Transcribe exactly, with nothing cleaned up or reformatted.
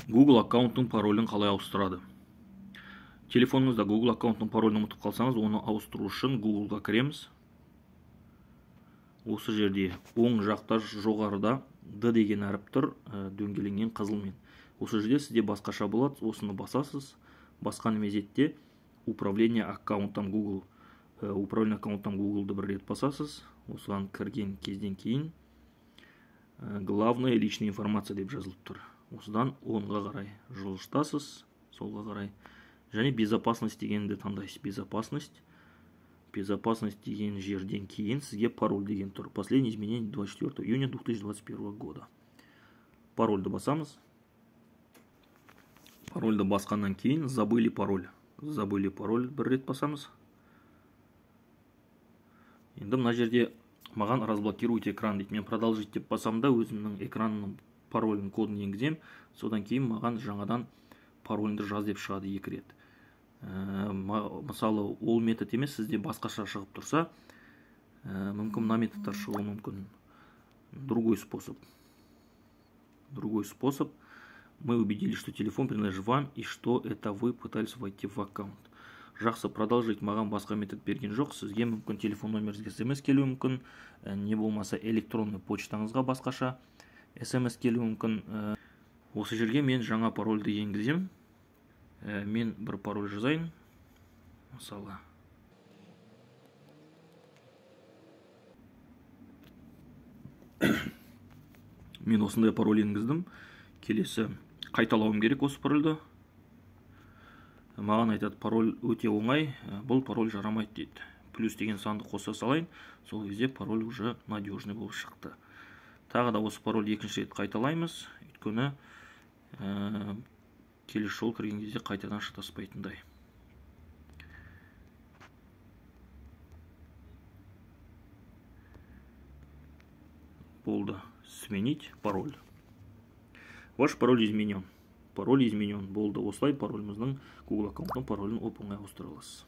Google аккаунттың паролін қалай ауыстырады? Телефоныңызда Google аккаунттың паролін ұмытып қалсаңыз, оны ауыстыру үшін Google-ға кіреміз. Осы жерде оң жақта жоғарыда D деген әріп тұр, дөңгеленген қызылмен. Осы жерде сізде басқаша болады, осыны басасыз. Басқан мезетте управление аккаунттан Google, управление аккаунттан Google-ды бір рет басасыз. Осыған кірген кезден кейін главная личная информация деп жазылып тұр. Осыдан онға қарай жылжытасыз, солға қарай. Және безопасность дегенді таңдайсыз. Безопасность. Безопасность деген жерден кейін сізге пароль деген тұр. Последнее изменение двадцать четвёртого июня две тысячи двадцать первого года. Парольді басамыз. Парольді басқаннан кейін забыли пароль. Забыли пароль бір рет басамыз. Енді мына жерде маған разблокируйте экран дейді. Мен продолжить деп басам да өзімнің экранның паролін кодын енгізем. Содан кейін маған жаңадан пароліңді жаз деп шығады екі рет. Мысалы, ол метод емес, сізде басқаша шығып тұрса, мүмкін мына методтар шығуы мүмкін. Другой способ. Другой способ. Мы убедились, что телефон принадлежит вам и что это вы пытались войти в аккаунт. Жақсы, продолжить маған басқа метод берген жоқ. Сізге мүмкін телефон номеріңізге смс келуі мүмкін, не болмаса электронный почтаңызға басқаша смс келуі мүмкін. Осы жерге мен жаңа парольді енгізем. Мен бір пароль жазайын. Мысалы. Мен осындай пароль енгіздім. Келесі қайталауым керек осы парольді. Маған айтады, пароль өте оңай, бұл пароль жарамайды дейді. Плюс деген санды қоса салайын, сол кезде пароль уже надежный болып шықты. Тағы да осы пароль екінші рет қайталаймыз, өйткені келесі жол кірген кезде қайтадан шатаспайтындай. Болды. Сменить пароль. Ваш пароль изменен. Пароль изменен. Болды. Осылай пароліміздің Google аккаунттың паролін оп-оңай ауыстыра аласыз.